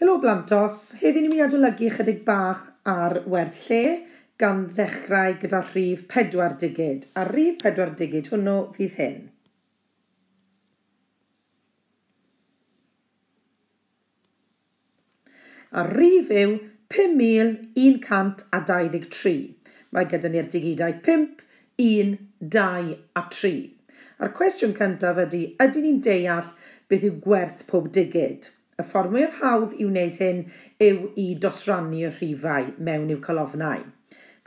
Helo blantos, heddi ni'n mynd i adolygu chydig bach ar werth lle gan ddechrau gyda rhif 4 digid. A rhif 4 digid hwnnw fydd hyn. A rhif yw 5123. Mae gyda ni'r digidau 5, 1, 2 a 3. A'r cwestiwn cyntaf ydy, ydyn ni'n deall beth yw gwerth pob digid? Y ffordd mwyaf hawdd i wneud hyn yw i dosrannu y rhifau mewn i'w colofnau.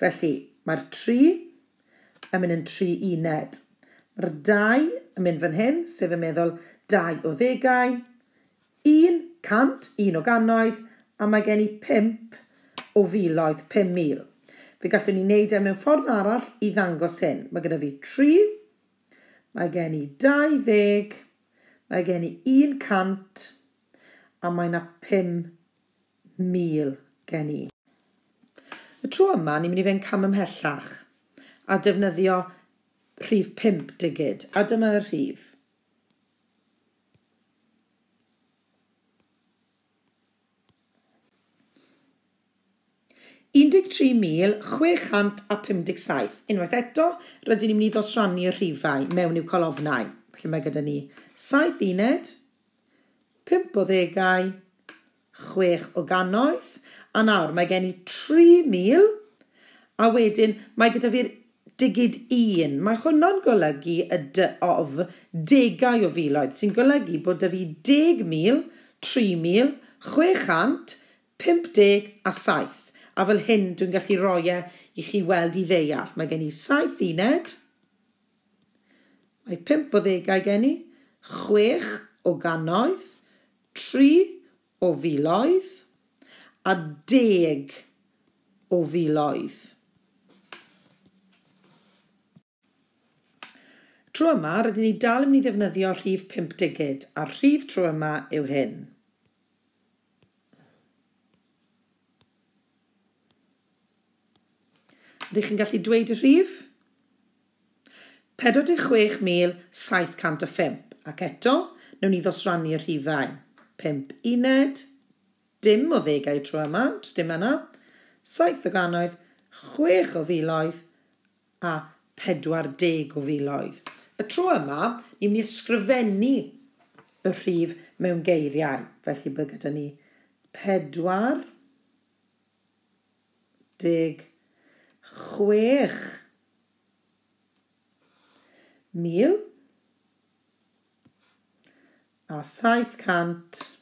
Felly, mae'r 3 yn mynd yn 3 uned. Mae'r 2 yn mynd fan hyn, sef yn meddwl 2 o ddegau, 1 cant, 1 o gannoedd, a mae gen i 5 o filoedd, 5,000. Fe gallwn ni wneud e mewn ffordd arall i ddangos hyn. Mae gyda fi 3, mae gen i 20, mae gen i 100, a mae yna 5,000 gen i. Y tro yma, ni'n mynd i fynd cam ymhellach a defnyddio rhif 5 digid. A dyma'r rhif. (13,657). Unwaith eto, rydyn ni'n mynd i ddosrannu y rhifau mewn i'w colofnau. Felly mae gyda ni 7 uned, 5 o ddegau, 6 o gannoedd, a nawr mae gen i 3,000, a wedyn mae gyda fi'r digid 1. Mae hwnna'n golygu y dy of degau o filoedd, sy'n golygu bod 'da fi 10,000, 3,000, 657. A fel hyn dwi'n gallu roi e i chi weld i ddeall. Mae gen i 7 uned, mae 5 o ddegau gen i, 6 o gannoedd, 3 o filoedd a 10 o filoedd. Tro yma, rydyn ni dal yn mynd i ddefnyddio rhif 5 digid, a'r rhif tro yma yw hyn. Ydych chi'n gallu dweud y rhif? 46,705. Ac eto, wnawn ni ddosrannu y rhifau. 5 uned, dim o ddegau tro yma, does dim yna, 7 o gannoedd, 6 o filoedd a 40 o filoedd. Y tro yma, ni'n mynd i ysgrifennu y rhif mewn geiriau. Felly bydd gyda ni 46,000 a 705.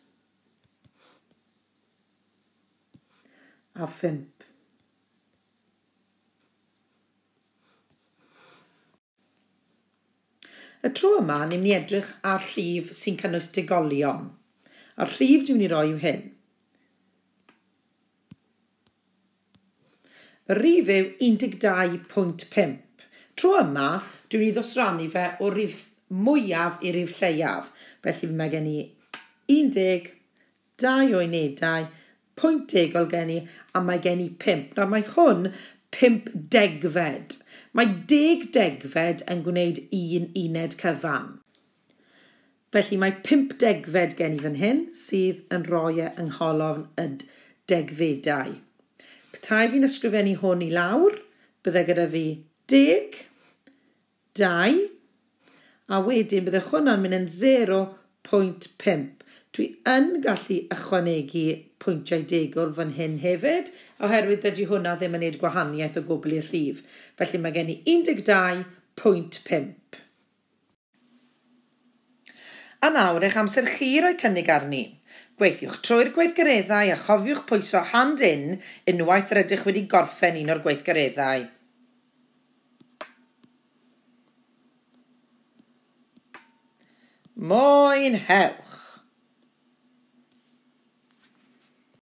Y tro yma, ni'n mynd i edrych ar rhif sy'n cynnwys degolion. A'r rhif dwi'n mynd i roi yw hyn. Y rhif yw 12.5. Tro yma, dwi'n mynd i ddosrannu fe o rif mwyaf i rif lleiaf. Felly mae gen i 12 o unedau, pwynt degol gen i, a mae gen i 5. Nawr mae hwn 5 degfed. Mae 10 degfed yn gwneud 1 uned cyfan. Felly mae 5 degfed gen i fan hyn sydd yn rhoi e yng ngholofn y degfedau. Petai fi'n ysgrifennu hwn i lawr, bydde gyda fi 10, 2, a wedyn bydde hwnna'n mynd yn 0.5. Dwi yn gallu ychwanegu pwyntiau degol fan hyn hefyd, oherwydd dydy hwnna ddim yn gwneud gwahaniaeth o gwbl i'r rhif. Felly mae gen i 12.5. A nawr eich amser chi roi cynnig arni. Gweithiwch trwy'r gweithgareddau a chofiwch pwyso hand in unwaith yr ydych wedi gorffen un o'r gweithgareddau. Mwynhewch!